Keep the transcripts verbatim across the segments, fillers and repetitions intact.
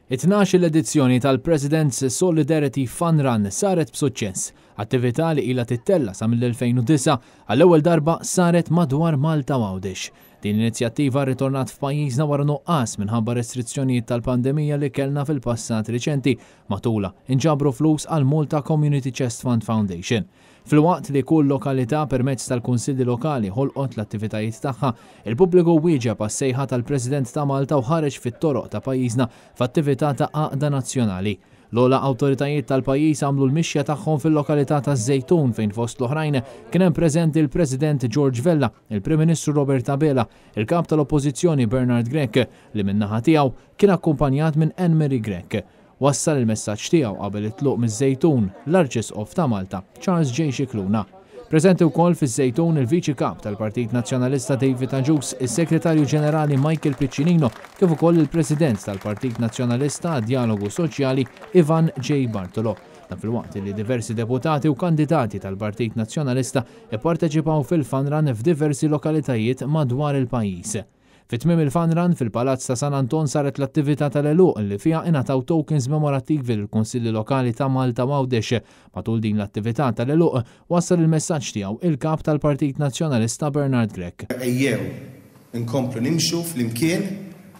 It-tnax-il edizzjoni tal-President's Solidarity Fun Run saret b'suċċess. Attività li ilha tittella' sa mill-elfejn u disgħa għall-ewwel darba saret madwar Malta u Għawdex. Din l-inizjattiva rritornat f'pajjiżna wara nuqqas minħabba restrizzjonijiet tal-pandemija li kellna fil-passat riċenti. Matulha inġabru flus għal Malta Community Chest Fund Foundation. Filwaqt li kull lokalità permezz tal-kunsilli lokali ħolqot l-attivitajiet tagħha, il-pubbliku wieġeb għas-sejħa tal-President ta' Malta u ħareġ fit-toroq ta' pajjiżna f'attività ta' għaqda nazzjonali. L-ogħla awtoritajiet tal-pajjiż għamlu l-mixja tagħhom fil-lokalità ta' Żejtun fejn fost l-oħrajn kien hemm preżenti l-President George Vella, il-Prim Ministru Robert Abela, il-Kap tal-Oppożizzjoni Bernard Grech li min-naħa tiegħu kien akkumpanjat minn Anne-Marie Grech. Wassal il-messaġġ tiegħu qabel it-tluq miż-Żejtun l-Arċisqof ta' Malta, Charles J. Scicluna. Preżenti wkoll fiż-Żejtun il-Viċi Kap tal-Partit Nazzjonalista David Agius, is-Segretarju Ġenerali Michael Piccinino, kif ukoll il-President tal-Partit Nazzjonalista għad-Dialogu Soċjali Ivan J. Bartolo. Dan filwaqt li diversi deputati u kandidati tal-Partit Nazzjonalista ipparteċipaw fil-Fun Run f'diversi lokalitajiet madwar il-pajjiż. Fi tmiem il-Fun Run fil-Palazz ta' San Anton saret l-attività tal-għeluq li fiha ingħataw tokens memorattivi lill-Kunsilli Lokali ta' Malta u Għawdex. Matul din l-attività tal-għeluq wassal il-messaġġ tiegħu il-Kap tal-Partit Nazzjonalista Bernard Grech. Ejjew inkomplu nimxu flimkien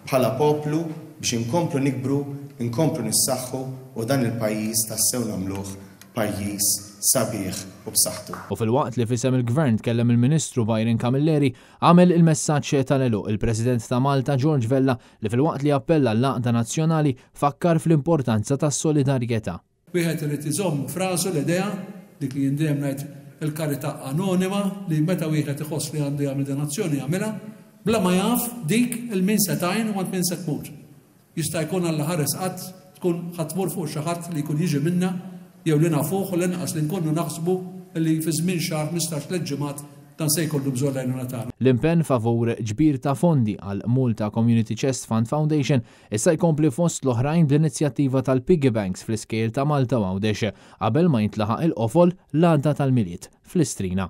bħala poplu biex inkomplu nikbru, inkomplu nissaħħu u dan il-pajjiż tassew nagħmluh pajjiż sabiħ u b'saħħtu. U filwaqt li f'isem il-Gvern tkellem il-Ministru Byron Camilleri, għamel il-messaġġ tal-għeluq il-President ta' Malta George Vella li filwaqt li appella l-għaqda nazzjonali fakkar fl-importanza tas-solidarjetà. Wieħed irid iżomm frażu l-idea dik li jien dejjem ngħid il-karità anonima li meta wieħed iħoss li għandu jagħmel donazzjoni jagħmilha bla ma jaf dik il-min se tgħin u għand min se tmur. Jista' jkun Alla ħares qatt tkun ħadd tmur fuq xi ħadd li jkun jiġi minna jew li nafuh u l-inqas li nkunu naħsbu li fi żmien xahar ħmistax tliet ġimgħat dan se jkollu bżonn l-għajnuna tagħna. L-impenn favur ġbir ta' fondi għal Malta Community Chest Fund Foundation issa jkompli fost l-oħrajn bl-inizjattiva tal-Piggy Banks fl-iskejjel ta' Malta u Għawdex qabel ma jintlaħaq il-qofol l-għada tal-Milied fl-Istrina.